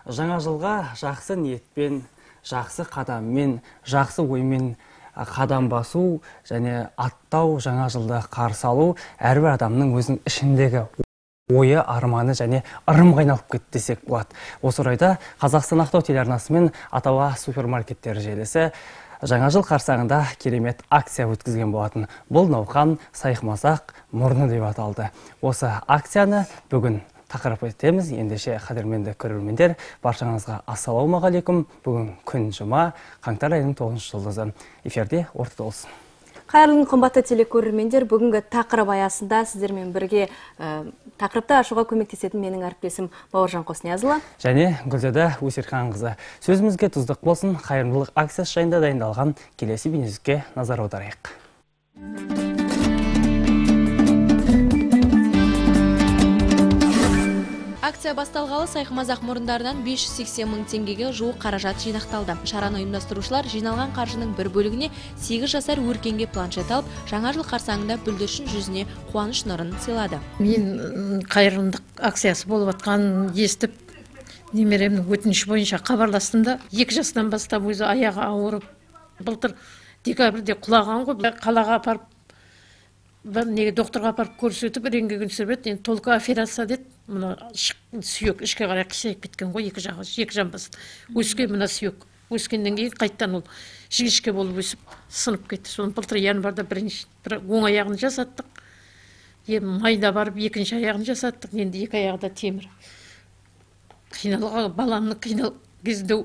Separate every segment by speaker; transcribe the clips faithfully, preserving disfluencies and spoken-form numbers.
Speaker 1: Жаңа жылға жақсы ниетпен, жақсы қадаммен, жақсы оймен қадам басу және аттау, жаңа жылды қарсы алу әрбір адамның өзінің ішіндегі ойы, арманы және ырымға айналып кетті десек болады. Осы орайда Қазақстан Ақтау телеарнасы мен Атауа супермаркеттер желісі жаңа жыл қарсаңында керемет акция өткізген болатын. Бұл науқан сайқымазақ мұрны деп аталды. Осы акцияны бүгін тақырып етеміз. Ендеше қадірменді көрермендер, баршаңызға ассалаумағалейкум. Бүгін күн жұма, қаңтар айының тоғызыншы жұлдызы. Эфирде ортада болсын.
Speaker 2: Қайырлы қымбатты телекөрермендер, бүгінгі тақырып аясында сіздермен бірге ә, тақырыпты ашуға көмектесетін менің әріптесім Бауыржан Қосниязұлы
Speaker 1: және Гүлзада Өсерханқызы. Сөзімізге тұздық болсын, қайырымдылық акциясы жайында дайындалған келесі бейнеске назар аударайық.
Speaker 3: Акция басталғалы сайқымазақ мұрындарынан бес жүз сексен мың теңгеге жуық қаражат жинақталды. Шараны ұйымдастырушылар жиналған қаржының бір бөлігіне сегіз жасар өркенге планшет алып, жаңа жыл қарсаңында бүлдіршін жүзіне қуаныш нұрын сыйлады.
Speaker 4: Мен қайырымдық акциясы болып атқан естіп, немеремнің өтініші бойынша хабарластым да, екі жастан бастап өзі аяғы ауырып, былтыр декабрьде құлаған ғой, қалаға апарып, неге докторға апарып көрсетіп, рентген түсіріп, енді толық операция деді. Мына сүйек ішке қарай қисайып кеткен ғой, екі жағы, екі жамбасын. Өскен мына сүйек. Өскеннен кейін қайттан ол жіңішке болып өсіп, сынып кетті. Соны былтыр январда бірінші бір оң аяғын жасаттық. Енді майда барып екінші аяғын жасаттық. Енді екі аяғы да темір. Қиналға баламның қинал кезінде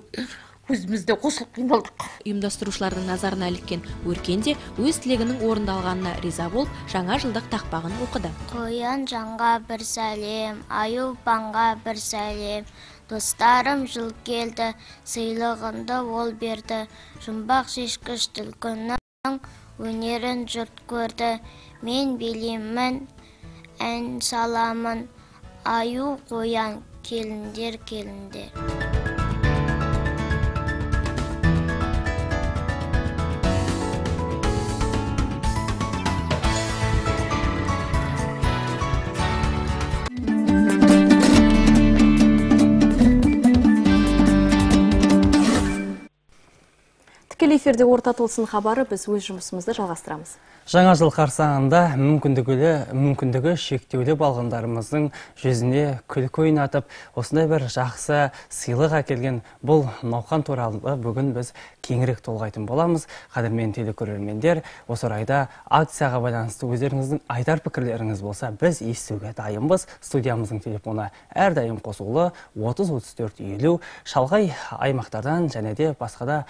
Speaker 4: өзімізде қосылып қиналдық.
Speaker 3: Ұйымдастырушылардың назарына іліккен өркенде өз тілегінің орындалғанына риза болып, жаңа жылдық тақпағын оқыды.
Speaker 5: Қоян жанға бір сәлем, аюпанға бір сәлем, достарым жыл келді, сыйлығынды ол берді, жұмбақ шешкіш түлкінің өнерін жұрт көрді, мен билеймін, ән саламын, аю қоян келіндер келінде.
Speaker 2: Тікелей эфирде орта толсын хабары, біз өз жұмысымызды жалғастырамыз.
Speaker 1: Жаңа жыл қарсаңында мүмкіндігі, мүмкіндігі шектеулі балғындарымыздың жүзіне күлкі ойнатып, осындай бір жақсы сыйлық әкелген бұл науқан туралы бүгін біз кеңірек толғайтын боламыз. Қадірмен телекөрермендер, осы орайда акцияға байланысты өздеріңіздің айтар пікірлеріңіз болса, біз естуге дайынбыз. Студиямыздың телефоны әрдайым қосулы отыз отыз төрт елу, шалғай аймақтардан және де басқада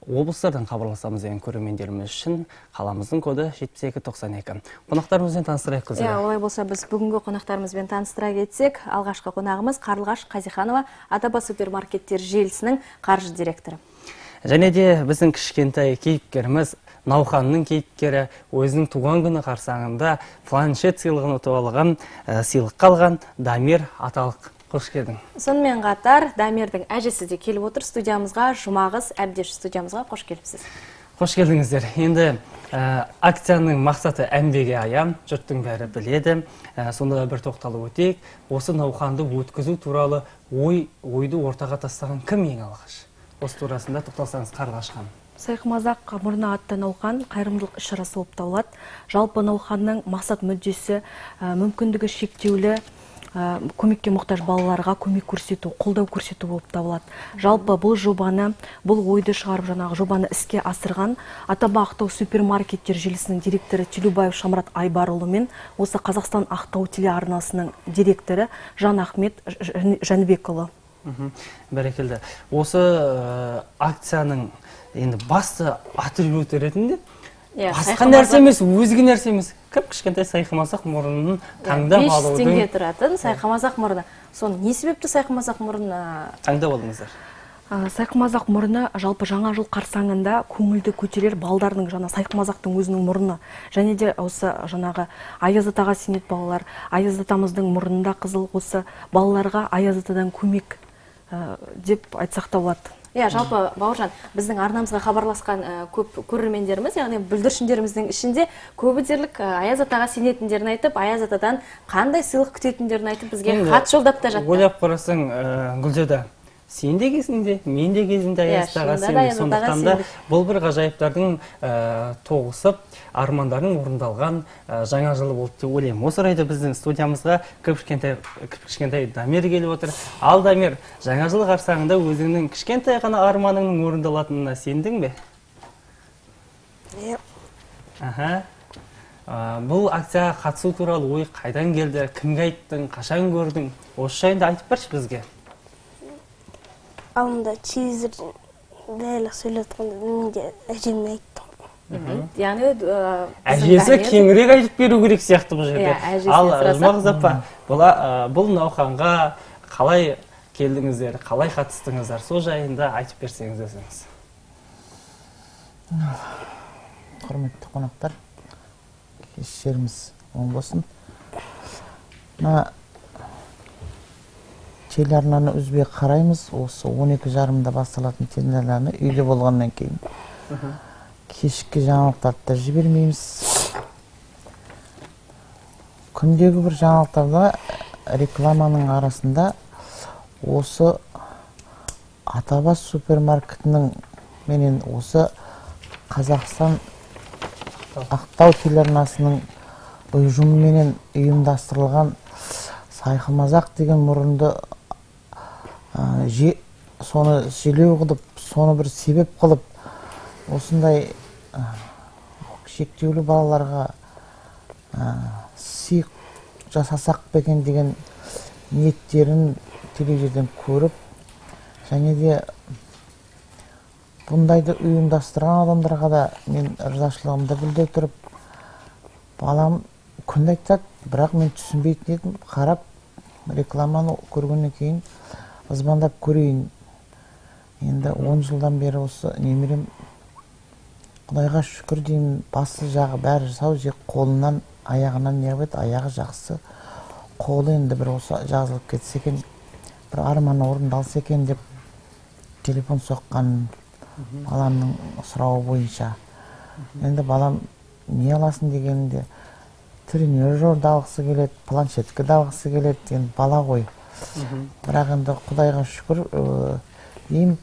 Speaker 1: облыстардан хабарласамыз деген көрермендеріміз үшін қаламыздың коды жетпіс екі тоқсан екі. Қонақтарымызбен таныстырайық Гүлзада.
Speaker 2: Иә, олай болса біз бүгінгі қонақтарымызбен таныстыра кетсек, алғашқы қонағымыз Қарлығаш Қазиханова, Атауа супермаркеттер желісінің қаржы директоры.
Speaker 1: Және де біздің кішкентай кейіпкеріміз, науқанның кейіпкері, өзінің туған күні қарсаңында планшет сыйлығын ұтып алған, сыйлыққа алған Дамир Аталық. Қош келдің.
Speaker 2: Сонымен қатар Дамирдің әжесі де келіп отыр студиямызға. Жұмағыз Әбдеш студиямызға қош келіпсіз.
Speaker 1: Қош келдіңіздер. Енді ә, акцияның мақсаты әмбеге аян, жұрттың бәрі біледі. Ә, сонда бір тоқталып өтейік. Осы науқанды өткізу туралы ой, ойды ортаға тастаған кім ең алғаш? Осы турасында тоқталсаңыз Қарлығаш ханым.
Speaker 6: Сайқымазақ мұрны атты науқан қайырымдылық іс-шарасы болып табылады. Жалпы науқанның мақсат мүддесі мүмкіндігі шектеулі көмекке мұқтаж балаларға көмек көрсету, қолдау көрсету болып табылады. Жалпы бұл жобаны, бұл ойды шығарып жаңағы жобаны іске асырған Атауа Ақтау супермаркеттер желісінің директоры Телубаев Шамрат Айбарұлы мен осы Қазақстан Ақтау телеарнасының директоры Жан Ахмет Жәнібекұлы.
Speaker 1: Бәрекелді. Осы акцияның енді басты атрибуты ретінде басқа нәрсе емес, өзге нәрсе емес. Кіп кішкентай сайқымазақ мұрынын таңдап алудың.
Speaker 2: бес жүз теңге тұратын сайқымазақ мұрны. Соны не себепті сайқымазақ мұрны
Speaker 1: таңдап алдыңыздар?
Speaker 6: Сайқымазақ мұрны жалпы жаңа жыл қарсаңында көңілді көтерер балдардың жаңа сайқымазақтың өзінің мұрны. Және де осы жаңағы Аяз атаға сенет балалар, Аяз атамыздың мұрнында қызыл, осы балаларға Аяз атадан көмек деп айтсақ та болады.
Speaker 2: Иә, жалпы Бауыржан, біздің арнамызға хабарласқан көп көрермендеріміз, яғни бүлдіршіндеріміздің ішінде көбі дерлік Аяз атаға сенетіндерін айтып, Аяз атадан қандай сыйлық күтетіндерін айтып, бізге хат жолдап та жатты.
Speaker 1: Ойлап қарасаң, Гүлзада, сен де кезінде, мен де кезінде Аяздаға
Speaker 2: шынында да
Speaker 1: сендік. Сондықтан да
Speaker 2: сендік.
Speaker 1: бұл бір ғажайыптардың ә, тоғысып, армандардың орындалған ә, жаңа жылы болды деп ойлаймын. Осы орайда біздің студиямызға кішкентай кішкентай Дамир келіп отыр. Ал Дамир, жаңа жыл қарсаңында өзіңнің кішкентай ғана арманыңның орындалатынына сендің бе?
Speaker 7: Иә.
Speaker 1: Аха. А, бұл акцияға қатысу туралы ой қайдан келді, кімге айттың, қашан көрдің? Осы жайында айтып берші бізге.
Speaker 7: Алдында телевизордан бәрі сөйлеп отқанда мен де әжеме айттым.
Speaker 2: Яғни
Speaker 1: Әжесі кеңірек айтып беру керек сияқты бұл жерде.
Speaker 2: Иә, әжесіне
Speaker 1: Ал
Speaker 2: сұрасақ.
Speaker 1: Жұмағыз апа, бұл, а, бұл науқанға қалай келдіңіздер, қалай қатыстыңыздар, сол жайында айтып берсеңіз өзіңіз.
Speaker 8: Құрметті қонақтар, кештеріміз оң болсын. Мына телеарнаны үзбей қараймыз. Осы он екі жарымда басталатын телеарнаны үйде болғаннан кейін кешкі жаңалықтарды да жібермейміз. Күндегі бір жаңалықтарда рекламаның арасында осы Атабас супермаркетінің менен осы Қазақстан Ақтау телеарнасының ұйымымен ұйымдастырылған Сайқымазақ деген мұрынды ә, же, соны желеу қылып, соны бір себеп қылып, осындай ә, шектеулі балаларға ә, сый жасасақ бекен деген ниеттерін телевизордан көріп, және де бұндайды ұйымдастырған адамдарға да мен ризашылығымды білдіре тұрып, балам күнде айтады, бірақ мен түсінбейтін едім, қарап рекламаны көргеннен кейін ызбандап көрейін. Енді он жылдан бері осы немерем Құдайға шүкір деймін, басы жағы бәрі жасау, жек қолынан, аяғынан не қылып еді, аяғы жақсы, қолы енді бір осы жазылып кетсе екен, бір арманы орындалса екен деп телефон соққан баламның сұрауы бойынша. Енді балам не аласың дегенде тренажер алғысы келеді, планшетке алғысы келеді, енді бала ғой. Бірақ енді Құдайға шүкір деймін,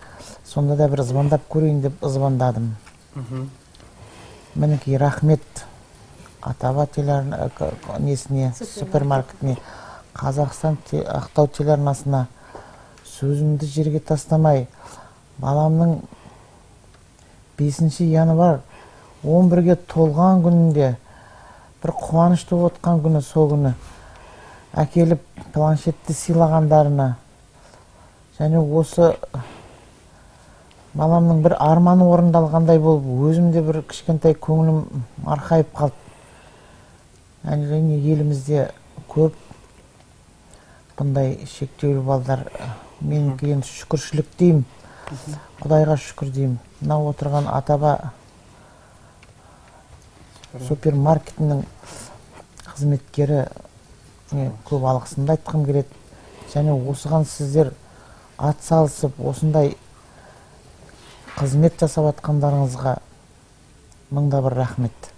Speaker 8: сонда да бір звондап көрейін деп звондадым. Мінекей рахмет Атаба телеарна несіне, супермаркетіне, Қазақстан Ақтау телеарнасына сөзімді жерге тастамай, баламның бесінші январ он бірге толған күнінде бір қуанышты отқан күні, сол күні әкеліп планшетті сыйлағандарына, және осы баламның бір арманы орындалғандай болып, өзімде бір кішкентай көңілім арқайып қалды. Және елімізде көп бұндай шектеулі балдар, мен кейін шүкіршілік деймін, Құдайға шүкір деймін. Мына отырған Атаба супермаркетінің қызметкері көп алғысымды айтқым келеді. Және осыған сіздер ат салысып, осындай қызмет жасап атқандарыңызға мыңда бір рахмет.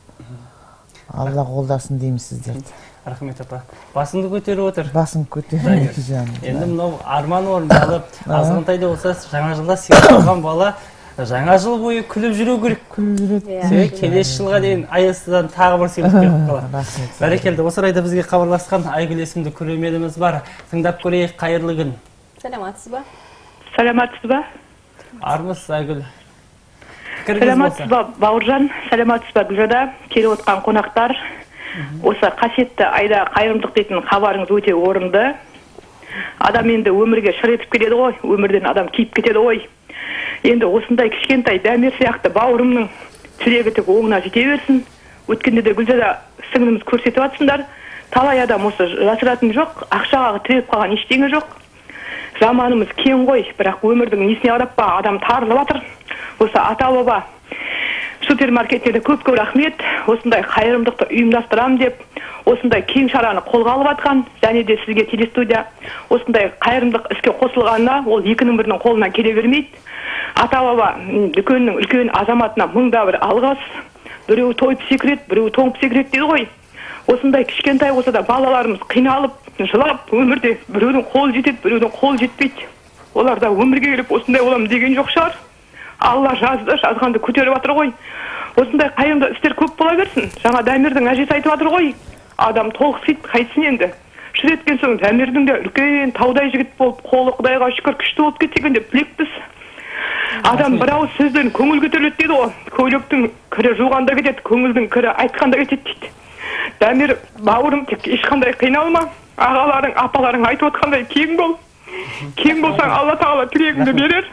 Speaker 8: Алла қолдасын дейміз сіздерді.
Speaker 1: Рахмет апа. Басыңды көтеріп отыр.
Speaker 8: Басын көтеріп жаным.
Speaker 1: Енді мынау арман орындалып, азғантайда болса жаңа жылда сыйлаған бала жаңа жыл бойы күліп жүру керек.
Speaker 8: Күліп жүреді.
Speaker 1: Себебі келесі жылға дейін Аяздадан тағы бір сыйлық беріп қалады. Бәрекелді. Осы орайда бізге хабарласқан Айгүл есімді көрерменіміз бар. Тыңдап көрейік. Қайырлы күн.
Speaker 2: Саламатсыз ба?
Speaker 9: Саламатсыз ба?
Speaker 1: Армысыз Айгүл.
Speaker 9: Саламатсыз ба Бауыржан, саламатсыз ба Гүлжада, келіп отқан қонақтар. Осы қасиетті айда қайырымдылық дейтін хабарыңыз өте орынды. Адам енді өмірге шыр етіп келеді ғой, өмірден адам киіп кетеді ғой. Енді осындай кішкентай Дамир сияқты бауырымның тілегі тек оңына жете берсін. Өткенде де Гүлжада сіңліміз көрсетіп жатсыңдар. Талай адам осы жасыратын жоқ, ақшаға тіреп қалған ештеңе жоқ. Заманымыз кең ғой, бірақ өмірдің несіне қарап па адам тарылып жатыр. Осы ата-баба супермаркеттерде көп-көп рахмет. Осындай қайырымдықты ұйымдастырам деп, осындай кең шараны қолға алып жатқан, және де сізге телестудия осындай қайырымдық іске қосылғанына, ол екінің бірінің қолынан келе бермейді. Ата-баба дүкеннің үлкен азаматына мыңда бір алғыс. Біреу тойып секірет, біреу тоңып секірет дейді ғой. Осындай кішкентай болса да балаларымыз қиналып, жылап, өмірде біреудің қолы жетеді, біреудің қолы жетпейді. олар да өмірге келіп осындай боламын деген жоқ шығар. Алла жазды, жазғанды көтеріп жатыр ғой. Осындай қайырымды істер көп бола берсін. Жаңа Дамирдің әжесі айтып жатыр ғой. Адам толықсиды, қайтсын енді. Шыр еткен соң Дамирдің де үлкен таудай жігіт болып, қолы Құдайға шүкір күшті болып кетсекен деп тілекпіз. Адам бір ауыз сөзден көңіл көтеріледі дейді ғой. Көйлектің кірі жуғанда кетеді, көңілдің кірі айтқанда кетеді дейді. Дамир бауырым, тек ешқандай қиналма. Ағаларың, апаларың айтып отқандай кең бол. Кең болсаң Алла тағала тілегіңді берер.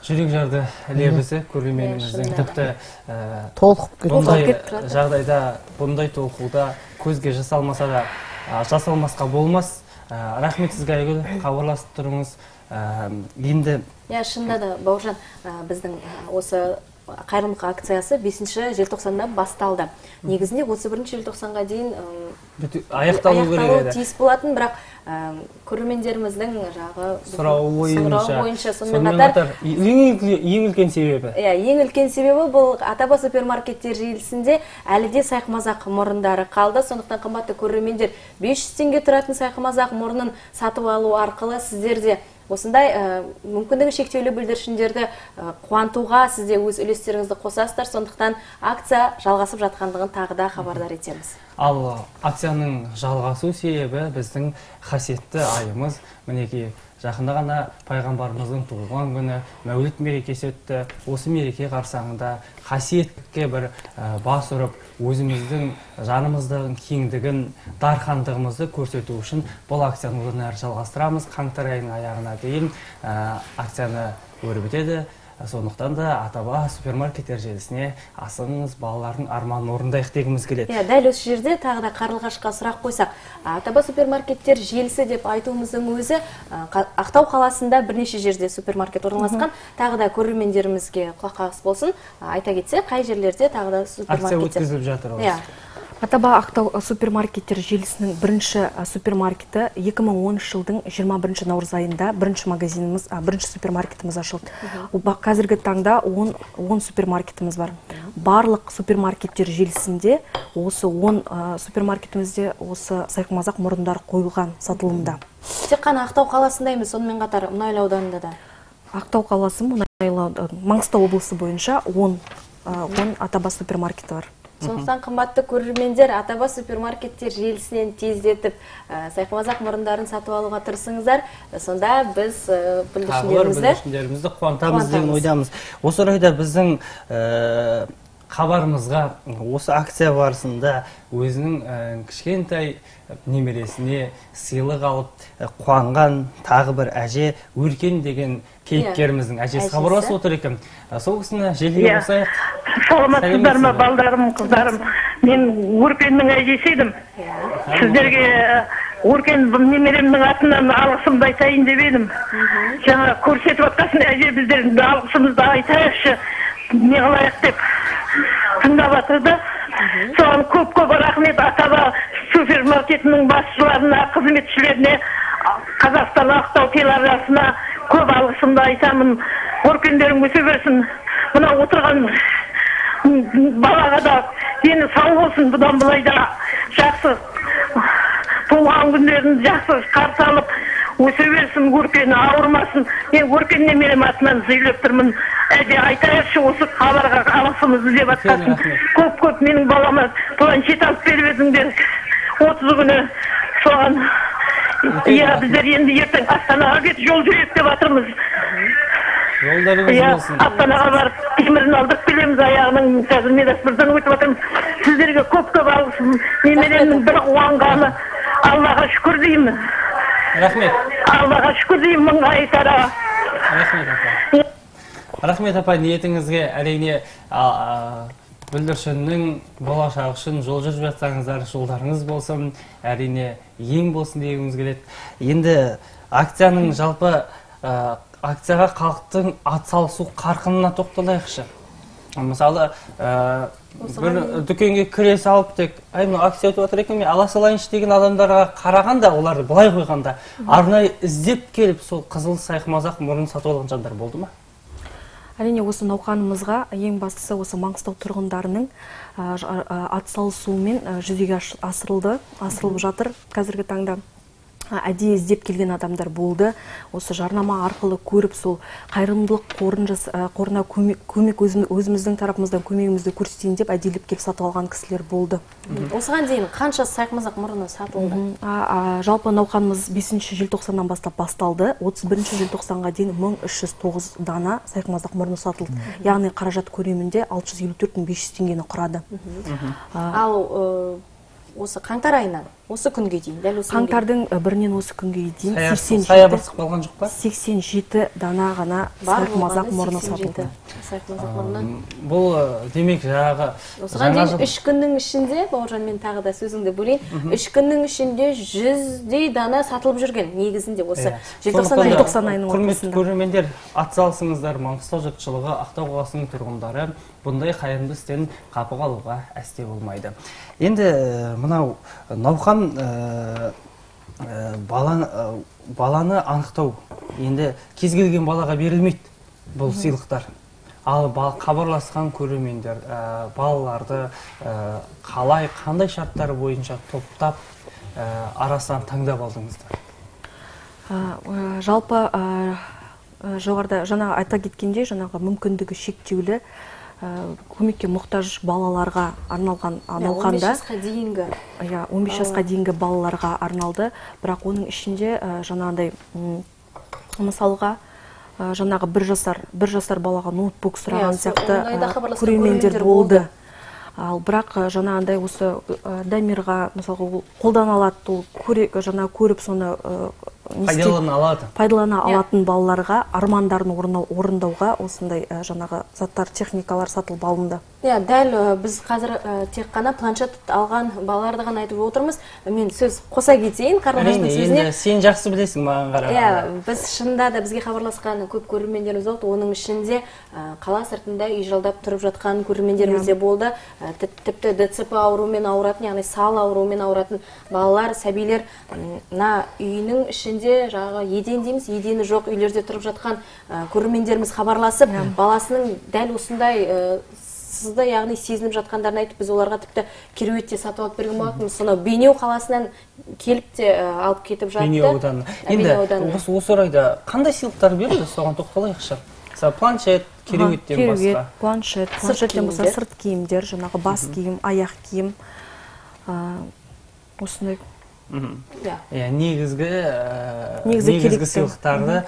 Speaker 1: Жүрек жарды лебізі көрерменіміздің тіпті
Speaker 8: толқып
Speaker 1: бұндай жағдайда, бұндай толқуда көзге жасалмаса да жасалмасқа болмас. Рахмет сізге Айгүл, хабарласып тұрыңыз. Енді
Speaker 2: Я шынында да Бауыржан, біздің осы қайырымдылық акциясы бесінші желтоқсанда басталды. Негізінде отыз бірінші желтоқсанға дейін
Speaker 1: аяқталу керек еді.
Speaker 2: Тиіс болатын, бірақ көрермендеріміздің жағы
Speaker 1: сұрауы
Speaker 2: бойынша сонымен қатар
Speaker 1: ең үлкен себебі.
Speaker 2: Ең үлкен себебі бұл Атаба супермаркеттер желісінде әлі де сайқымазақ мұрындары қалды. Сондықтан қымбатты көрермендер, бес жүз теңге тұратын сайқымазақ мұрнын сатып алу арқылы сіздерде осындай мүмкіндігі шектеулі бүлдіршіндерді қуантуға сізде өз үлестеріңізді қосасыздар. Сондықтан акция жалғасып жатқандығын тағы да хабардар етеміз.
Speaker 1: Ал акцияның жалғасу себебі біздің қасиетті айымыз, мінекей жақында ғана пайғамбарымыздың туылған күні Мәуліт мерекесі өтті. Осы мереке қарсаңында қасиетке бір бас ұрып, өзіміздің жанымыздың кеңдігін, дархандығымызды көрсету үшін бұл акцияны одан әрі жалғастырамыз. Қаңтар айының аяғына дейін акцияны өрбітеді өтеді. Сондықтан да Атаба супермаркеттер желісіне асығыңыз, балалардың арманын орындайық дегіміз келеді.
Speaker 2: Дәл осы жерде тағы да Қарлығашқа сұрақ қойсақ, Атаба супермаркеттер желісі деп айтуымыздың өзі Ақтау қаласында бірнеше жерде супермаркет орналасқан. Тағы да көрермендерімізге құлаққағыс болсын. Айта кетсе, қай жерлерде тағы да супермаркеттер
Speaker 1: акция өткізіліп жатыр.
Speaker 6: Атаба Ақтау супермаркеттер желісінің бірінші супермаркеті екі мың оныншы жылдың жиырма бірінші наурыз айында бірінші магазиніміз, бірінші супермаркетіміз ашылды. Қазіргі таңда он супермаркетіміз бар. Барлық супермаркеттер желісінде осы он супермаркетімізде осы сайқымазақ мұрындар қойылған сатылымда.
Speaker 2: Тек қана Ақтау қаласында емес, сонымен қатар Мұнайлы ауданында да.
Speaker 6: Ақтау қаласы, Мұнайлы, Маңғыстау облысы бойынша он Атаба супермаркеті бар.
Speaker 2: Сондықтан қымбатты көрермендер, Атаба супермаркеттер желісінен тездетіп сайқымазақ мұрындарын сатып алуға тырысыңыздар. Сонда біз
Speaker 1: бүлдіршіндерімізді қуантамыз деген ойдамыз. Осы орайда біздің хабарымызға осы акция барысында өзінің кішкентай немересіне сыйлық алып қуанған тағы бір әже Өркен деген кейіпкеріміздің әжесі хабарласып отыр екен. Сол кісіні желіге қосайық.
Speaker 10: Саламатсыздар ма, балдарым, қыздарым? Мен Өркеннің әжесі едім. Сіздерге Өркен немеремнің атынан алғысымды айтайын деп едім. Жаңа көрсетіп отқасын әже біздердің алғысымызды айтайықшы, не қылайық деп тыңдап жатырды. Соған көп-көп рахмет Атаба супермаркетінің басшыларына, қызметшілеріне, Қазақстан Ақтау телеарнасына көп алғысымды айтамын. Өркендерің өсе берсін. Мына отырған балаға да дені сау болсын, бұдан былай да жақсы туған күндерін жақсы қарсы алып өсе берсін, Өркені ауырмасын. Мен Өркен немерем атынан сөйлеп тұрмын. Әже айтайықшы осы хабарға алғысымызды деп жатқасын. Көп-көп менің балама планшет алып беріп едіңдер. отыз күні соған иә, біздер енді ертең Астанаға кетіп жол жүрейік деп жатырмыз.
Speaker 1: Жолдарыңыз болсын.
Speaker 10: Астанаға барып темірін алдырып келеміз, аяғының қазір медосмотрдан өтіп жатырмыз. Сіздерге көп-көп алғысым. Немеремнің бір қуанғаны, Аллаға шүкір деймін.
Speaker 1: Рахмет.
Speaker 10: Аллаға шүкір деймін, мыңға айтара.
Speaker 1: Рахмет апа. Рахмет апа, ниетіңізге әрине бүлдіршіннің болашағы үшін жол жүріп жатсаңыздар, жолдарыңыз болсын, әрине ең болсын дегіміз келеді. Енді акцияның жалпы акцияға халықтың атсалысу қарқынына тоқталайықшы. Мысалы, бір дүкенге кіре салып тек, ай, мына акция өтіп жатыр екен, мен ала салайыншы деген адамдарға қарағанда, оларды былай қойғанда, арнайы іздеп келіп сол қызыл сайқымазақ мұрнын сатып алған жандар болды ма?
Speaker 6: Әрине осы науқанымызға ең бастысы осы Маңғыстау тұрғындарының атсалысуымен жүзеге асырылды, асырылып жатыр қазіргі таңда. әдейі іздеп келген адамдар болды. Осы жарнама арқылы көріп, сол қайырымдылық қорын жас, қорына көмек, көмек өзіміздің тарапымыздан көмегімізді көрсетейін деп әдейілеп келіп сатып алған кісілер болды.
Speaker 2: Осыған дейін қанша сайқымазақ мұрыны сатылды?
Speaker 6: Жалпы науқанымыз бесінші желтоқсаннан бастап басталды. отыз бірінші желтоқсанға дейін мың үш жүз тоғыз дана сайқымазақ мұрны сатылды. Яғни қаражат көлемінде алты жүз елу төрт мың бес жүз теңгені құрады.
Speaker 2: Ал осы қаңтар айынан осы күнге дейін, дәл осы
Speaker 6: қаңтардың бірінен осы күнге дейін
Speaker 1: саябырсық болған жоқ па?
Speaker 6: сексен жеті дана ғана сайқымазақ мұрны сатылды.
Speaker 1: Бұл демек жаңағы
Speaker 2: осыған дейін үш күннің ішінде, Бауыржан, мен тағы да сөзіңді бөлейін, үш күннің ішінде жүздей дана сатылып жүрген, негізінде осы желтоқсан айының
Speaker 1: ортасында. Құрметті көрермендер, атсалысыңыздар, Маңғыстау жұртшылығы, Ақтау қаласының тұрғындары бұндай қайырымды істен қапы қалуға әсте болмайды. Енді мынау науқан баланы анықтау, енді кез келген балаға берілмейді бұл сыйлықтар. Ал хабарласқан көрермендер балаларды қалай, қандай шарттар бойынша топтап арасынан таңдап алдыңыздар?
Speaker 6: Жалпы жоғарыда жаңа айта кеткенде, жаңағы мүмкіндігі шектеулі көмекке мұқтаж балаларға арналған науқанда
Speaker 2: он бес жасқа дейінгі
Speaker 6: он бес жасқа дейінгі балаларға арналды. Бірақ оның ішінде жаңағыдай мысалға жаңағы бір жасар бір жасар балаға ноутбук сұраған сияқты көрермендер болды. Ал бірақ жаңағыдай осы Дамирға мысалға қолдана алады, жаңа көріп соны пайдалана алатын балаларға армандарын орындауға осындай жаңағы заттар, техникалар сатылып алынды.
Speaker 2: Дәл біз қазір тек қана планшет алған балаларды ғана айтып отырмыз. Мен сөз қоса кетейін Қарлығаштың сөзіне.
Speaker 1: Енді сен жақсы білесің маған қарағанда.
Speaker 2: Біз шынында да бізге хабарласқан көп көрермендеріміз болды. Оның ішінде қала сыртында үй жалдап тұрып жатқан көрермендеріміз де болды. Тіпті ДЦП ауруымен ауыратын, яғни сал ауруымен ауыратын балалар, сәбилер үйінің ішінде жаңағы еден дейміз, едені жоқ үйлерде тұрып жатқан көрермендеріміз хабарласып, баласының дәл осындай сізді, яғни сезініп жатқандарын айтып, біз оларға тіпті кереуетте сатып алып берген болатынбыз. Сонау Бейнеу қаласынан келіп те алып кетіп жатты.
Speaker 1: Бейнеу ауданы. Енді осы орайда қандай сыйлықтар берді, соған тоқталайықшы. Планшет, кереуеттен басқа.
Speaker 6: Кереует, планшет, планшеттен басқа сырт киімдер, жаңағы бас киім, аяқ киім, осындай.
Speaker 1: Негізгі сыйлықтарды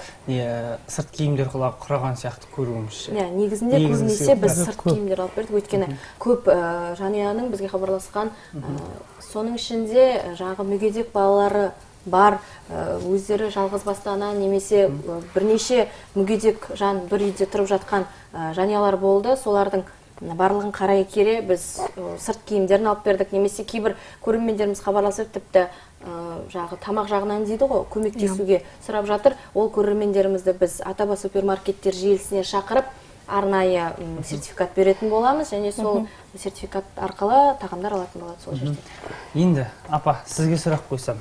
Speaker 1: сырт киімдер құраған сияқты көруімізше.
Speaker 2: Негізінде көбінесе біз сырт киімдер алып бердік, өйткені көп жанұяның бізге хабарласқан, соның ішінде жаңағы мүгедек балалары бар, өздері жалғыз басты ана немесе бірнеше мүгедек жан бір үйде тұрып жатқан жанұялар болды. Солардың барлығын қарай кере біз сырт киімдерін алып бердік, немесе кейбір көрермендеріміз хабарласып тіпті жағы тамақ жағынан дейді ғой, көмектесуге сұрап жатыр. Ол көрермендерімізді біз Атаба супермаркеттер желісіне шақырып арнайы сертификат беретін боламыз, және сол сертификат арқылы тағамдар алатын болады сол жерде.
Speaker 1: Енді апа, сізге сұрақ қойсам,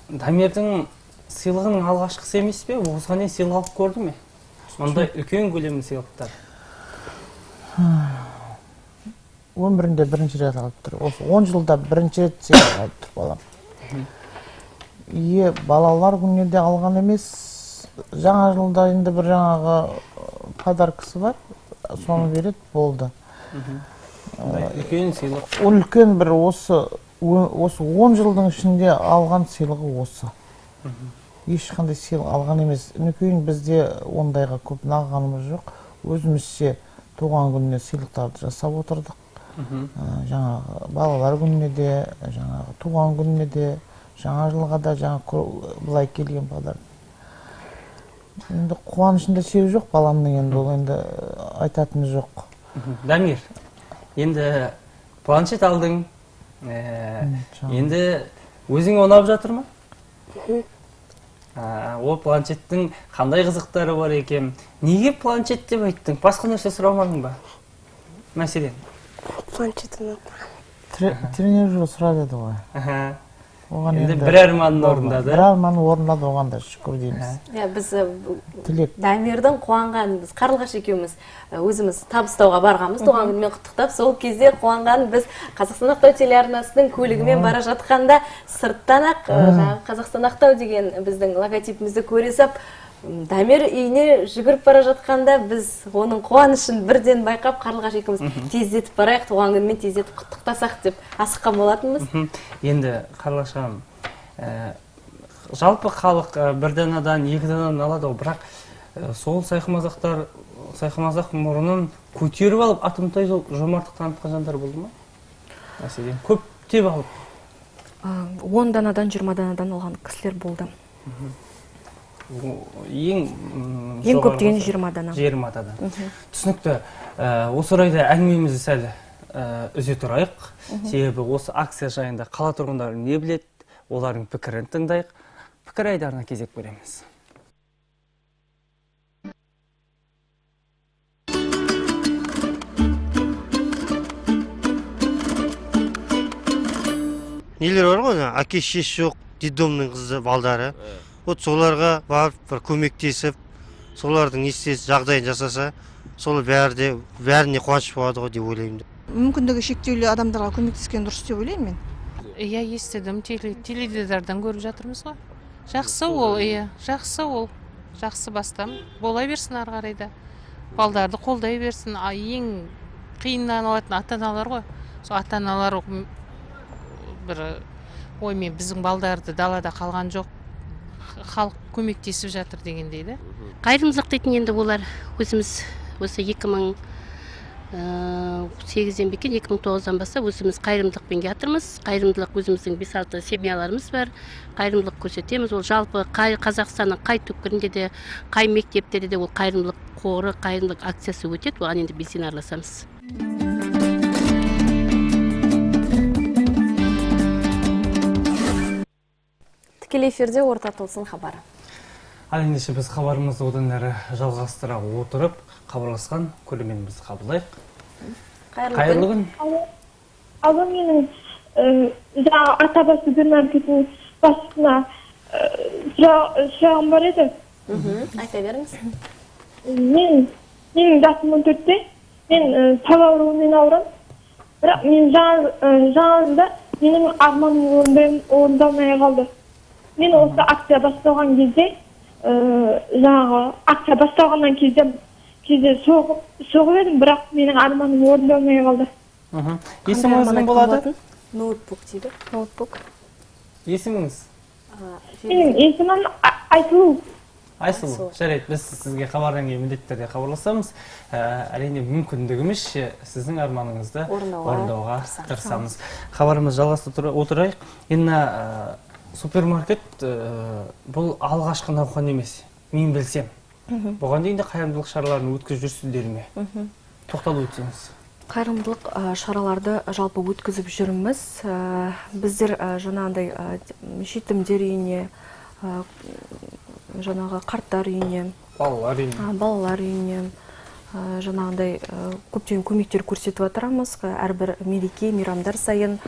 Speaker 1: Дамирдің сыйлығының алғашқысы емес пе? Осыған дейін сыйлық алып көрді ме? Ондай үлкен көлемді сыйлықтар.
Speaker 8: Өмірінде бірінші рет алып тұр. Осы он жылда бірінші рет сыйлық алып тұр балам. Ие, балалар күніне де алған емес, жаңа жылда енді бір жаңағы подаркасы бар, соны береді, болды.
Speaker 1: Үлкен сыйлық.
Speaker 8: Үлкен бір осы он жылдың ішінде алған сыйлығы осы. Ешқандай сыйлық алған емес. Нүкейін бізде ондайға көп нағанымыз жоқ. Өзімізше туған күніне сыйлықтарды жасап отырдық. Жаңағы балалар күніне де, жаңағы туған күніне де, жаңа жылға да жаңа бұлай келген подарок. Енді қуанышында шек жоқ баламның, енді ол енді айтатыны жоқ.
Speaker 1: Дамир, енді планшет алдың, енді өзің онап жатыр ма? Ол планшеттің қандай қызықтары бар екен? Неге планшет деп айттың? Басқа нәрсе сұрамадың ба? Мәселен?
Speaker 7: Планшетін
Speaker 8: тренер сұрады еді ғой.
Speaker 1: Енді бір арманын орындады.
Speaker 8: Бір арманын орындады, оған да шүкір дейміз.
Speaker 2: Біз Дамирдің қуанғанын, біз Қарлығаш екеуміз өзіміз табыстауға барғанбыз, туған күнімен құттықтап, сол кезде қуанғанын біз Қазақстан Ақтау телеарнасының көлігімен бара жатқанда сырттан ақ Қазақстан Ақтау деген біздің логотипімізді көре сап, Дамир үйіне жүгіріп бара жатқанда біз оның қуанышын бірден байқап, Қарлығаш екеуміз тездетіп барайық, туған күнімен тездетіп құттықтасақ деп асыққан болатынбыз.
Speaker 1: Енді Қарлығаш ханым, жалпы халық бір данадан, екі данадан алады, бірақ сол сайқымазақтар, сайқымазақ мұрынын көтеріп алып, атымтай жомарттық танытқан жандар болды ма? Мәселен, көптеп алып?
Speaker 6: он данадан, жиырма данадан алған кісілер болды.
Speaker 1: Ең
Speaker 6: көп деген жиырма дана.
Speaker 1: жиырма дана. Түсінікті. Осы орайда әңгімемізді сәл үзе тұрайық. Себебі осы акция жайында қала тұрғындары не біледі, олардың пікірін тыңдайық. Пікір айдарына кезек береміз.
Speaker 11: Нелер бар ғой, әке шешесі жоқ, детдомның қызы, балдары. Вот соларға барып, бір көмектесіп, солардың естесі жағдайын жасаса, солы бәріне қуаныш болады ғой деп ойлаймын.
Speaker 12: Мүмкіндігі шектеулі адамдарға көмектескен дұрыс деп ойлаймын мен.
Speaker 4: Иә, естідім, теледидардан көріп жатырмыз ғой. Жақсы ол, иә, жақсы ол. Жақсы бастам. Бола берсін ары қарайда. Балдарды қолдай берсін. Ең қиыннан алатын ата-аналар ғой. Сол ата-аналар бір оймен біздің балдарды далада қалған жоқ. Халық көмектесіп жатыр деген дейді.
Speaker 13: Қайырымдылық дейтін енді олар өзіміз осы екі мың сегізден бекен екі мың тоғыздан бастап өзіміз қайырымдылықпен жатырмыз. Қайырымдылық өзіміздің бес алты семьяларымыз бар. Қайырымдылық көрсетеміз. Ол жалпы Қазақстанның қай түкпірінде де, қай мектептерде де ол қайырымдылық қоры, қайырымдылық акциясы өтеді. Оған енді белсене араласамыз.
Speaker 2: Тікелей эфирде орта толсын хабары.
Speaker 1: Ал ендеше біз хабарымызды одан әрі жалғастыра отырып, хабарласқан көрерменімізді қабылдайық. Қайырлы күн.
Speaker 14: Алло, менің жаңа Атаба супермаркетінің басшысына сұрағым бар еді.
Speaker 2: Айта беріңіз.
Speaker 14: Мен менің жасым он төртте, мен тал ауруымен ауырам. Бірақ мен жаңалында менің арманым орындалмай қалды. Мен осы акция басталған кезде, жаңағы акция басталғаннан кезде кезде соғып едім, бірақ менің арманым орындалмай қалды.
Speaker 1: Есіміңіздің болады?
Speaker 2: Ноутбук дейді. Ноутбук.
Speaker 1: Есіміңіз?
Speaker 14: Менің есімім Айсұлу.
Speaker 1: Айсұлу, жарайды, біз сізге хабардан кейін міндетті түрде хабарласамыз. Әрине мүмкіндігімізше сіздің арманыңызды орындауға тырысамыз. Хабарымыз жалғастыра отырайық. Енді супермаркет бұл алғашқы науқан емес, мен білсем. Бұған дейін де қайырымдылық шараларын өткізіп жүрсіздер ме? Тоқталып өтсеңіз.
Speaker 6: Қайырымдылық шараларды жалпы өткізіп жүрміз. Біздер жаңағындай жетімдер үйіне, жаңағы қарттар үйіне,
Speaker 1: балалар үйіне,
Speaker 6: балалар үйіне жаңағындай көптеген көмектер көрсетіп отырамыз. Әрбір мереке, мейрамдар сайын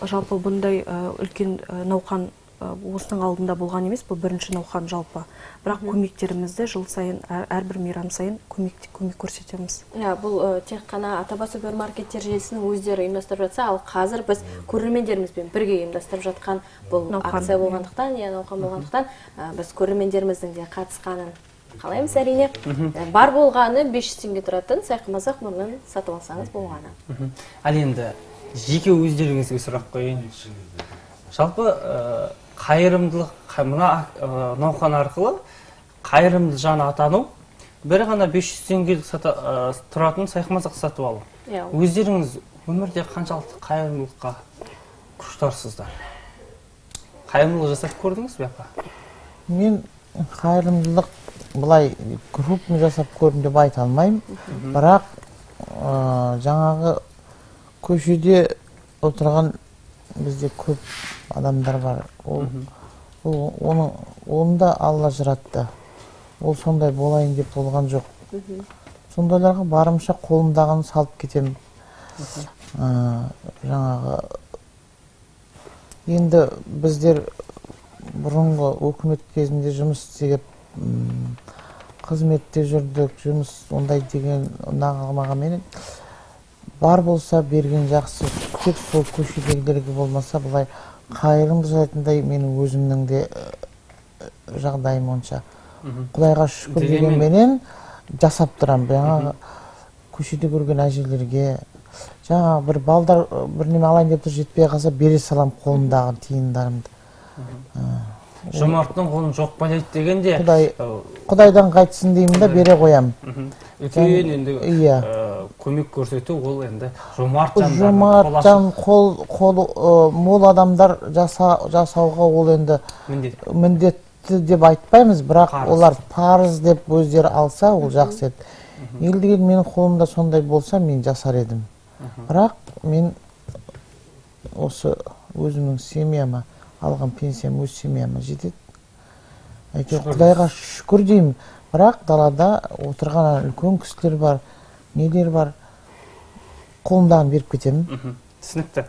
Speaker 6: жалпы бұндай үлкен науқан осының алдында болған емес, бұл бірінші науқан жалпы. Бірақ көмектерімізді жыл сайын, әрбір мейрам сайын көмек көрсетеміз.
Speaker 2: Бұл тек қана Атаба супермаркеттер желісінің өздері ұйымдастырып жатса, ал қазір біз көрермендерімізбен бірге ұйымдастырып жатқан бұл акция болғандықтан, науқан болғандықтан, біз көрермендеріміздің де қатысқанын қалаймыз әрине. Бар болғаны бес жүз теңге тұратын сайқымазақ мұрнын сатып алсаңыз болғаны.
Speaker 1: Ал енді жеке өздеріңізге сұрақ қойын. Жалпы қайырымдылық, мына науқан арқылы қайырымды жаны атану, бір ғана бес жүз теңге тұратын сайқымазақ сатып алу. Өздеріңіз өмірде қаншалықты қайырымдылыққа құштарсыздар? Қайырымдылық жасап көрдіңіз бе апа?
Speaker 8: Мен қайырымдылық бұлай группаны жасап көрдім деп айта алмаймын. Бірақ жаңағы көшеде отырған бізде көп адамдар бар. Оны да Алла жаратты. Ол сондай болайын деп болған жоқ. Сондайларға барымша қолымдағын салып кетемін. Жаңағы Енді біздер бұрынғы өкімет кезінде жұмыс істеп қызметте жүрдік, жұмыс ондай деген ұнағанменен бар болса берген жақсы, тек сол көшедегілерге болмаса былай қайырым жасайтындай менің өзімнің де жағдайым онша. Құдайға шүкір дегенменен жасап тұрам. Жаңағы көшеде көрген әжелерге, жаңа бір балдар бір неме алайын деп тұр, жетпей қалса бере салам қолымдағы тиындарымды.
Speaker 1: Жомарттың қолын жоқ байлайды дегенде
Speaker 8: Құдайдан қайтсын деймін да бере қоям.
Speaker 1: Үлкен енді көмек көрсету ол енді жомарт
Speaker 8: жан қол мол адамдар жасауға ол енді міндетті деп айтпаймыз, бірақ олар парыз деп өздері алса ол жақсы еді. Елдеген менің қолымда сондай болса мен жасар едім. Бірақ мен осы өзімнің семьяма алған пенсиям өз семьяма жетеді. Әйтеуір Құдайға шүкір деймін. Бірақ далада отырған үлкен кісілер бар, нелер бар, қолымдағын беріп кетемін.
Speaker 1: Түсінікті.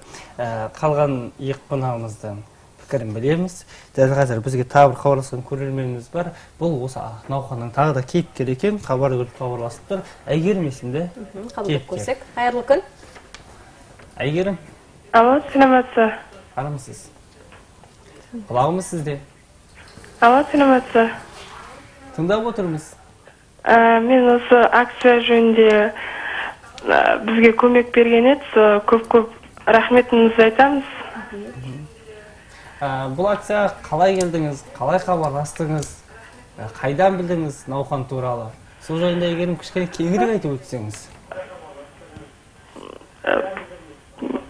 Speaker 1: Қалған екі қонағымыздың пікірін білеміз. Дәл қазір бізге тағы бір хабарласқан көрерменіміз бар. Бұл осы науқанның тағы да кейіпкер екен, хабар көріп хабарласып тұр. Әйгерім есімді.
Speaker 2: Қабылдап көрсек. Қайырлы күн.
Speaker 1: Әйгерім.
Speaker 15: Алло, сәлеметсіз.
Speaker 1: Армысыз. Құлағымыз сізде.
Speaker 15: Алло, сәлеметсіз.
Speaker 1: Тыңдап отырмыз.
Speaker 15: Мен осы акция жөнінде бізге көмек берген еді, көп-көп рахметімізді айтамыз.
Speaker 1: Бұл акция қалай келдіңіз, қалай хабарластыңыз, қайдан білдіңіз науқан туралы? Сол жайында егерім кішкене кеңірек айтып өтсеңіз.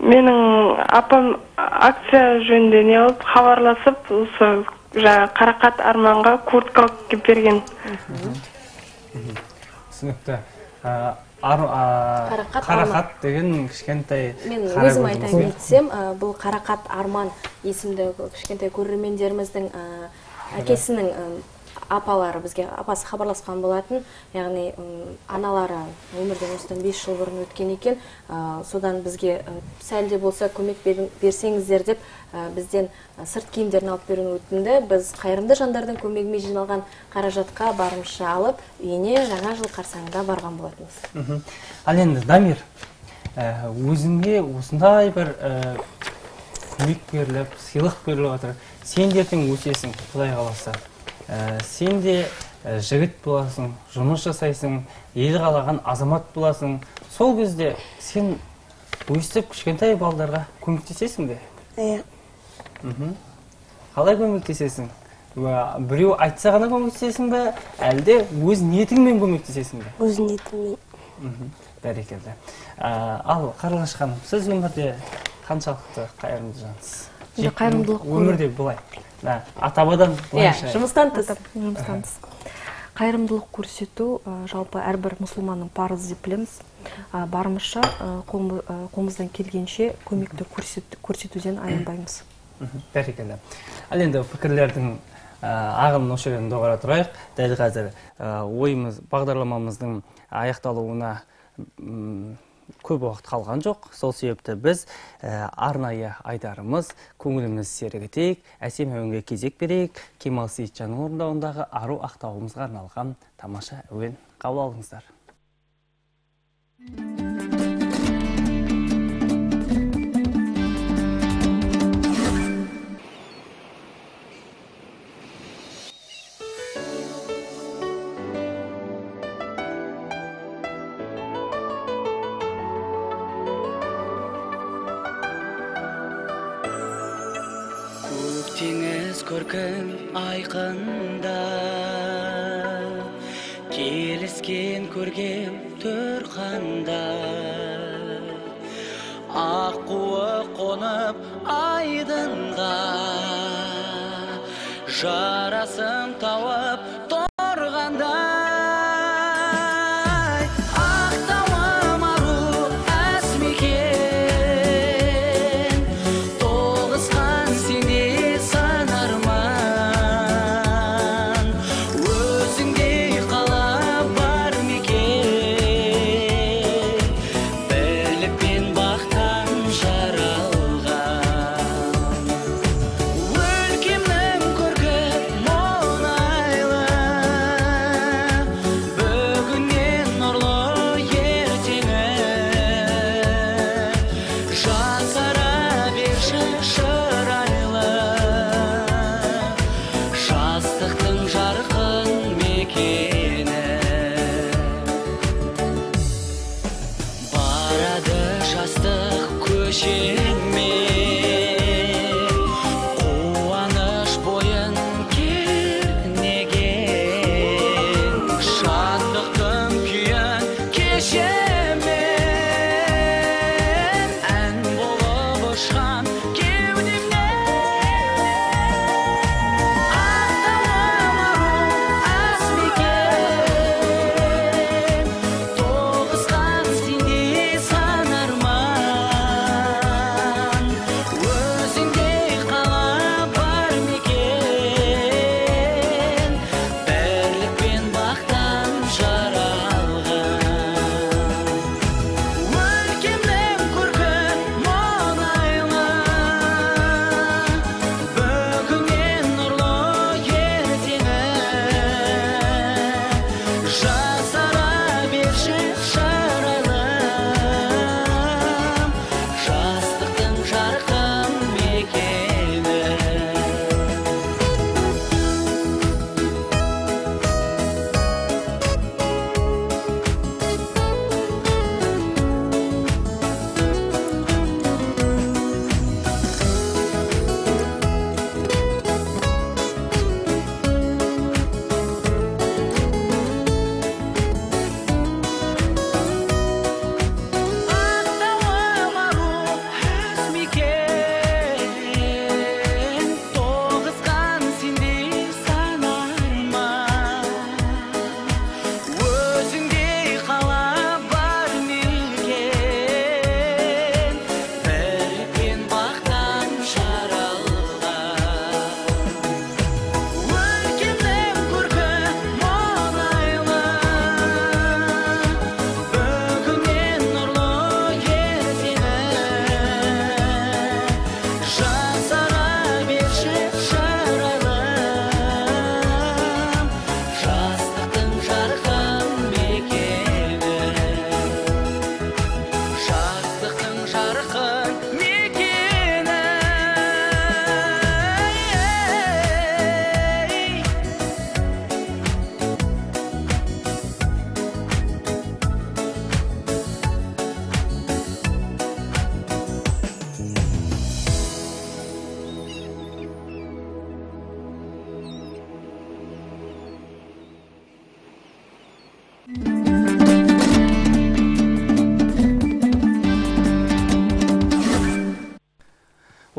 Speaker 15: Менің апам акция жөнінде не алып хабарласып, осы Қарақат Арманға куртка алып берген.
Speaker 1: Түсінікті. Қарақат деген кішкентай...
Speaker 2: Мен өзім айтайын етсем, бұл Қарақат Арман есімді кішкентай көрермендеріміздің әкесінің апалары бізге апасы хабарласқан болатын, яғни аналары өмірден осыдан бес жыл бұрын өткен екен, содан бізге сәлде болса көмек берсеңіздер деп бізден сырт киімдерін алып беруін өтінді. Біз қайырымды жандардың көмегімен жиналған қаражатқа барымызша алып, үйіне жаңа жыл қарсаңында барған болатынбыз.
Speaker 1: Ал енді Дамир, өзіңе осындай бір көмек беріліп, сыйлық беріліп жатыр. Сен ертең өсесің, Құдай қаласа. Сен де жігіт боласың, жұмыс жасайсың, ел қалаған азамат боласың. Сол кезде сен өстіп кішкентай балдарға көмектесесің бе?
Speaker 7: Иә.
Speaker 1: Қалай көмектесесің? Біреу айтса ғана көмектесесің бе, әлде өз ниетіңмен көмектесесің бе?
Speaker 7: Өз ниетіммен.
Speaker 1: Бәрекелді. Ал Қарлығаш ханым, сіз өмірде қаншалықты қайырымды жансыз? Өмірде бұлай. Атабадан
Speaker 2: бұлайша. Жұмыстан тыс.
Speaker 6: Қайырымдылық көрсету жалпы әрбір мұсылманның парызы деп білеміз. Барымызша қолымыздан келгенше көмекті көрсетуден аянбаймыз.
Speaker 1: Бәрекелді. Ал енді пікірлердің ағымын осы жерден доғара тұрайық. Дәл қазір ойымыз, бағдарламамыздың аяқталуына көп уақыт қалған жоқ. Сол себепті біз арнайы айдарымыз, көңіліміз сергітейік, әсем әуенге кезек берейік. Кемал Сейітжанның орындауындағы ару ақтауымызға арналған тамаша әуен қабыл алыңыздар.
Speaker 16: Теңіз көркім айқында, келіскен көргем түрқанда, аққуы қонып айдынға, жарасын тауып торғанда.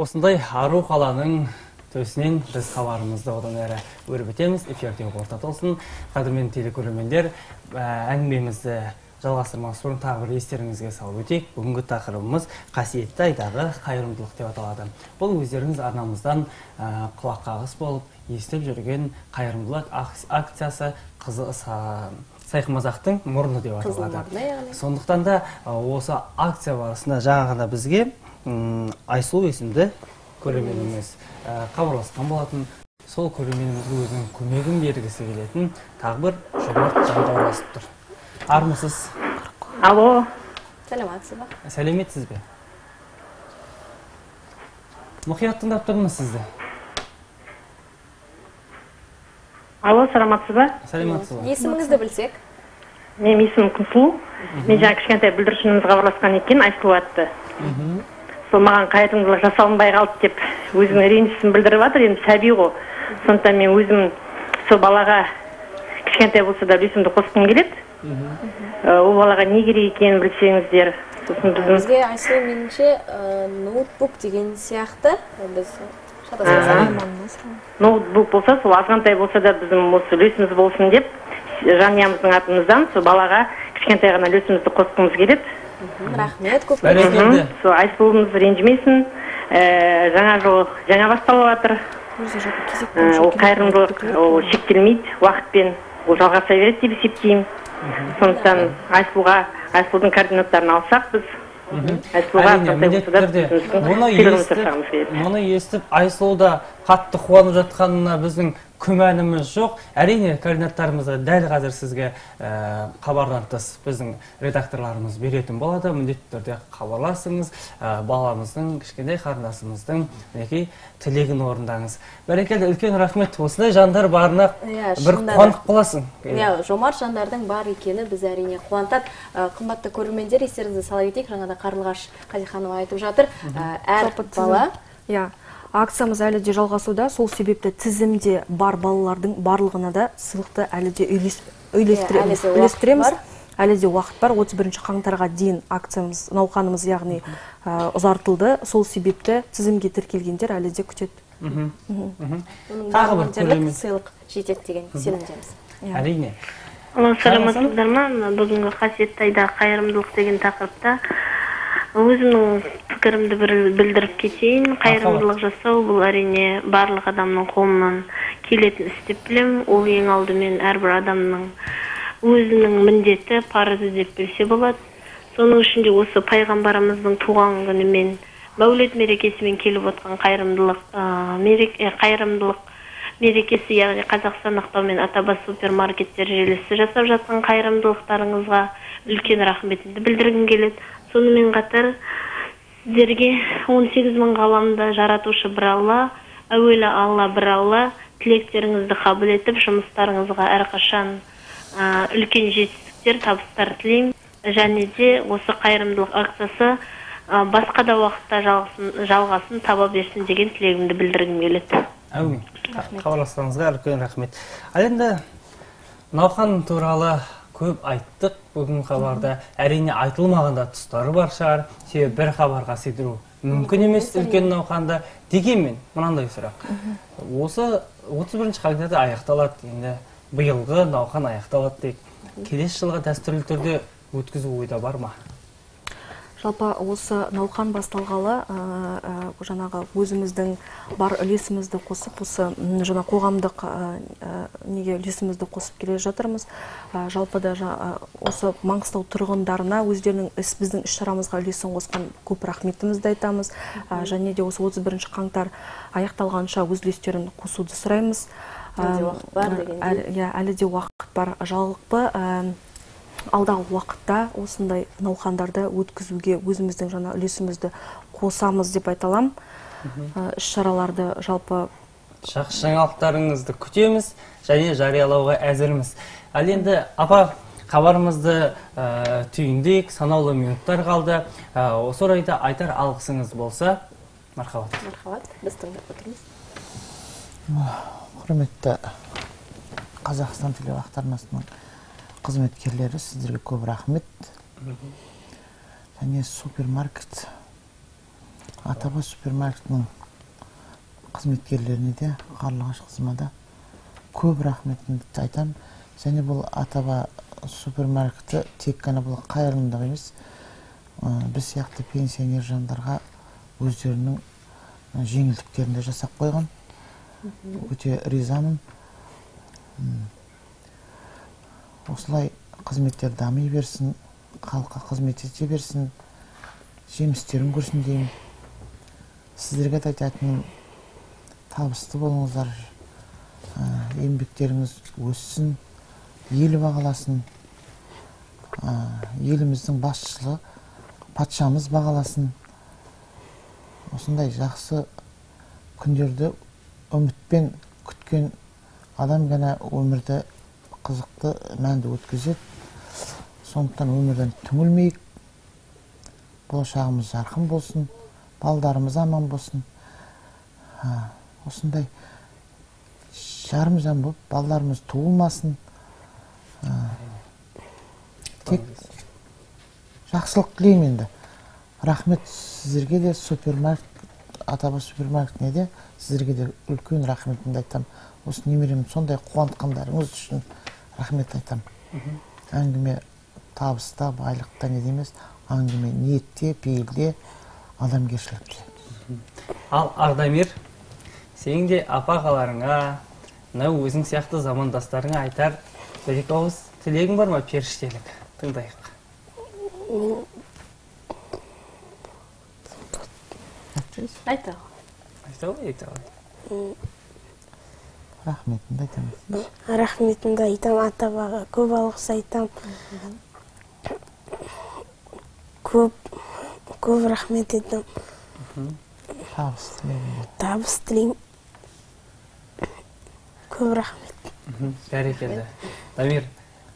Speaker 1: осындай ару қаланың төсінен біз хабарымызды одан әрі өрбітеміз. Эфирде ортада болсын. Қадірмен телекөрермендер, әңгімемізді жалғастырмас бұрын тағы бір естеріңізге салып өтейік. Бүгінгі тақырыбымыз қасиетті айдағы қайырымдылық деп аталады. Бұл өздеріңіз арнамыздан құлақ қағыс болып естіп жүрген қайырымдылық акциясы Сайқымазақтың мұрны деп аталады. Сондықтан да осы акция барысында жаңағыда бізге Айсұлу есімді көрерменіміз хабарласқан болатын. Сол көрерменімізге өзінің көмегін бергісі келетін тағы бір жомарт жан орналасып тұр. Армысыз?
Speaker 9: Алло.
Speaker 2: Сәлеметсіз бе?
Speaker 1: Сәлеметсіз бе? Мұқият тыңдап тұрмыз сізді.
Speaker 9: Алло, саламатсыз ба?
Speaker 1: Сәлеметсіз ба?
Speaker 2: Есіміңізді білсек?
Speaker 9: Мен есімім Күнсұлу. Мен жаңа кішкентай бүлдіршініміз хабарласқан екен, Айсұлу атты. Сол маған қайырымдылық жасалынбай қалды деп өзінің ренжісін білдіріп жатыр. Енді сәби ғой. Сондықтан мен өзім сол балаға кішкентай болса да үлесімді қосқым келеді. Ол балаға не керек екенін білсеңіздер.
Speaker 2: Бізге Айсұлу меніңше ноутбук деген сияқты.
Speaker 9: Ноутбук болса, сол азғантай болса да біздің осы үлесіміз болсын деп, жанұямыздың атымыздан сол балаға кішкентай ғана үлесімізді қосқымыз келеді.
Speaker 2: Рахмет, көп
Speaker 1: бәрекелді.
Speaker 9: Сол Айсұлуымыз ренжімесін. Жаңа жыл жаңа басталып жатыр. Ол қайырымдылық ол шектелмейді, уақытпен ол жалғаса береді деп есептеймін. Сондықтан Айсұлуға Айсұлудың координаттарын алсақ біз
Speaker 1: Мұны естіп, Айсұлуда қатты қуанып жатқанына біздің күмәніміз жоқ. Әрине, координаттарымызды дәл қазір сізге хабардан тыс біздің редакторларымыз беретін болады. Міндетті түрде хабарласыңыз, баламыздың, кішкентай қарындасымыздың тілегін орындаңыз. Бәрекелді, үлкен рахмет. Осындай жандар барына бір қуанып қаласың.
Speaker 2: Жомарт жандардың бар екені біз әрине қуантады. Қымбатты көрермендер, естеріңізді сала кетейік. Жаңада Қарлығаш Қазиханова айтып жатыр. Әр бала
Speaker 6: акциямыз әлі де жалғасуда, сол себепті тізімде бар балалардың барлығына да сыйлықты әлі де үйлестіреміз. Әлі де уақыт бар. отыз бірінші қаңтарға дейін акциямыз, науқанымыз яғни ұзартылды. Сол себепті тізімге тіркелгендер әлі де күтеді.
Speaker 2: Тағы бір көрермен сыйлық жетеді деген сенімдеміз.
Speaker 1: Әрине.
Speaker 17: Саламатсыздар ма? Бүгінгі қасиетті айда қайырымдылық деген тақырыпта өзімнің пікірімді білдіріп кетейін. Қайырымдылық жасау бұл әрине барлық адамның қолынан келетін іс деп білемін. Ол ең алдымен әрбір адамның өзінің міндеті, парызы деп білсе болады. Соның ішінде осы пайғамбарымыздың туған күнімен, Мәулет мерекесімен келіп отқан қайырымдылық қайырымдылық мерекесі, яғни Қазақстан Ақтау мен Атабас супермаркеттер желісі жасап жатқан қайырымдылықтарыңызға үлкен рахметімді білдіргім келеді. Сонымен қатар сіздерге он сегіз мың ғаламда жаратушы бір Алла, әуелі Алла бір Алла, тілектеріңізді қабыл етіп, жұмыстарыңызға әрқашан үлкен жетістіктер, табыстар тілеймін. Және де осы қайырымдылық акциясы басқа да уақытта жалғасын таба берсін деген тілегімді білдіргім келеді.
Speaker 1: Әумин. Хабарласқаныңызға үлкен рахмет. Ал енді науқан туралы көп айттық бүгін хабарда. Әрине айтылмағанда тұстары бар шығар. Себебі бір хабарға сыйдыру мүмкін емес үлкен науқанда. Дегенмен мынандай сұрақ. Осы отыз бірінші қаңтарда аяқталады. Енді биылғы науқан аяқталады дейік. Келесі жылға дәстүрлі түрде өткізу ойда бар ма?
Speaker 6: Жалпы осы науқан басталғалы жаңағы өзіміздің бар үлесімізді қосып, осы жаңа қоғамдық неге үлесімізді қосып келе жатырмыз. Жалпы да осы Маңғыстау тұрғындарына өздерінің біздің іс-шарамызға үлесін қосқан көп рахметімізді айтамыз. Және де осы отыз бірінші қаңтар аяқталғанша өз үлестерін қосуды сұраймыз. Әлі де уақыт бар. Жалпы алдағы уақытта осындай науқандарды өткізуге өзіміздің жаңа үлесімізді қосамыз деп айталам. Іс-шараларды жалпы
Speaker 1: жақсы жаңалықтарыңызды күтеміз және жариялауға әзірміз. Ал енді апа, хабарымызды түйіндейік, санаулы минуттар қалды. Осы орайда айтар алғысыңыз болса, мархабат.
Speaker 2: Мархабат, біз тыңдап отырмыз.
Speaker 8: Құрметті Қазақстан телеарнасының қызметкерлері, сіздерге көп рахмет. Және супермаркет Атаба супермаркетінің қызметкерлеріне де, қарлығаш қызыма да көп рахметімді айтам. Және бұл Атаба супермаркеті тек қана бұл қайырымдылық емес, біз сияқты пенсионер жандарға өздерінің жеңілдіктерін де жасап қойған. Өте ризамын. Осылай қызметтер дами берсін, халыққа қызмет ете берсін, жемістерін көрсін деймін. Сіздерге де айтатыным, табысты болыңыздар, еңбектеріңіз өссін, елі бағаласын, еліміздің басшылығы, патшамыз бағаласын. Осындай жақсы күндерді үмітпен күткен адам ғана өмірді қызықты, мәнді өткізеді. Сондықтан өмірден түңілмейік, болашағымыз жарқын болсын, балдарымыз аман болсын. Осындай жарым жан болып, балдарымыз туылмасын. Тек жақсылық тілеймін енді. Рахмет сіздерге де, супермаркет, Атаба супермаркетіне де, сіздерге де үлкен рахметімді айтам. Осы немеремді сондай қуантқандарыңыз үшін рахмет айтам. Әңгіме табыста, байлықта не демес, әңгіме ниетте, пейілде, адамгершілікте.
Speaker 1: Ал Ардамир, сен де апа-ағаларыңа, өзің сияқты замандастарыңа айтар бір-екі ауыз тілегің бар ма, періштелік? Тыңдайық.
Speaker 2: Айта.
Speaker 1: Айта ғой, айта ғой.
Speaker 8: Рахметімді айтам.
Speaker 7: Рахметімді айтам, Атабаға көп алғыс айтам. Көп, көп рахмет етім.
Speaker 8: Табыс тілеймін.
Speaker 7: Табыс тілеймін. Көп рахмет.
Speaker 1: Бәрекелді. Дамир,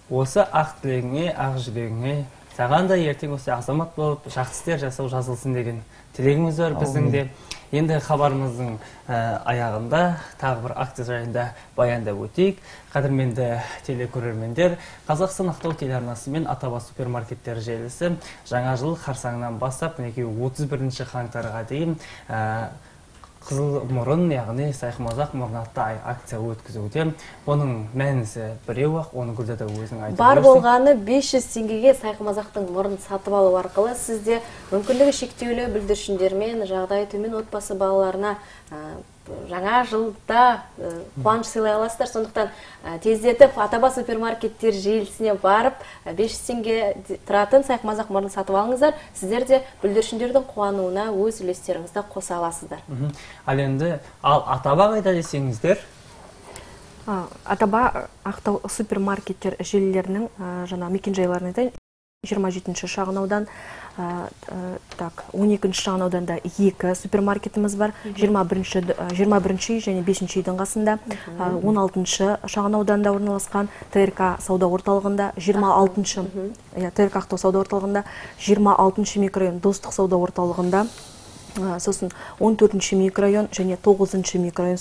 Speaker 1: осы ақ тілегіңе, ақ жүрегіңе, саған да ертең осы азамат болып, жақсы істер жасау жазылсын деген тілегіміз бар біздің де. Енді хабарымыздың аяғында тағы бір акция жайында баяндап өтейік. Қадірменді телекөрермендер, Қазақстан Ақтау телеарнасы мен Атаба супермаркеттер желісі жаңа жыл қарсаңынан бастап, мінекей отыз бірінші қаңтарға дейін Қызыл мұрын, яғни сайқымазақ мұрын атты акция өткізуде. Оның мәнісі біреу-ақ, оның гүлді де өзің айтып
Speaker 2: бар болғаны бес жүз теңгеге сайқымазақтың мұрын сатып алу арқылы сізде мүмкіндігі шектеулі бүлдіршіндермен, жағдайы төмен отбасы балаларына жаңа жылда қуаныш сыйлай аласыздар. Сондықтан тездетіп Атаба супермаркеттер желісіне барып бес жүз теңге тұратын сайқымазақ мұрын сатып алыңыздар. Сіздер де бүлдіршіндердің қуануына өз үлестеріңізді қоса аласыздар.
Speaker 1: Ал енді, ал Атаба қайда десеңіздер?
Speaker 6: Атаба Ақтау супермаркеттер желілерінің жаңа мекенжайларына айтайын. жиырма жетінші шағын аудан, он екінші шағын ауданда екі супермаркетіміз бар. жиырма бірінші және бесінші үйдің қасында, он алтыншы шағын ауданда орналасқан ТРК сауда орталығында, жиырма алтыншы ТРК Ақтау сауда орталығында, жиырма алтыншы микрорайон Достық сауда орталығында, сосын он төртінші микрорайон және тоғызыншы микрорайон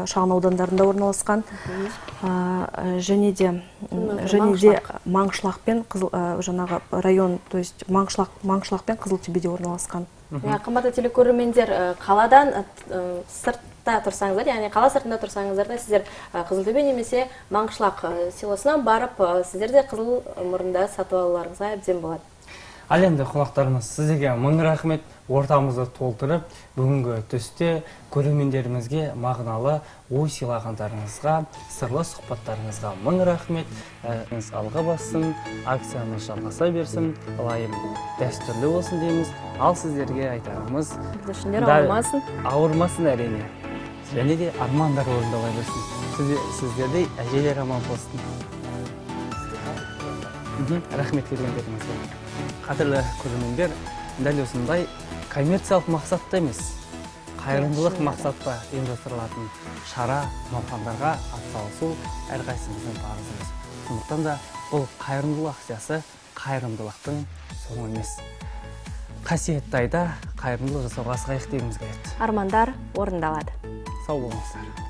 Speaker 6: шағын аудандарында орналасқан, және де және де Маңшылақ пен жаңағы район, то есть Маңшылақ пен Қызылтөбеде орналасқан.
Speaker 2: Қымбатты телекөрермендер, қаладан сыртта тұрсаңыздар, яғни қала сыртында тұрсаңыздар да сіздер Қызылтөбе немесе Маңшылақ селосынан барып, сіздер де қызыл мұрында сатып алуларыңызға әбден болады.
Speaker 1: Ал енді қонақтарымыз, сіздерге мың рахмет, ортамызды толтырып, бүгінгі түсте көрермендерімізге мағыналы ой сыйлағандарыңызға, сырлы сұхбаттарыңызға мың рахмет. Алға бассын, акциямыз жалғаса берсін, лайым дәстүрлі болсын дейміз. Ал сіздерге айтарымыз,
Speaker 2: бүлдіршіндер ауырмасын.
Speaker 1: Ауырмасын әрине. Және де армандар орындала берсін. Сіздерде әжелер аман болсын. Рахмет келгендеріңізге. Қадірлі көрермендер, дәл осындай коммерциялық мақсатта емес, қайырымдылық мақсатта ұйымдастырылатын шара, науқандарға атсалысу әрқайсымыздың парызымыз. Сондықтан да бұл қайырымдылық акциясы қайырымдылықтың соңы емес. Қасиетті айда қайырымдылық жасауға асығайық дегіміз келеді.
Speaker 2: Армандар орындалады.
Speaker 1: Сау болыңыздар.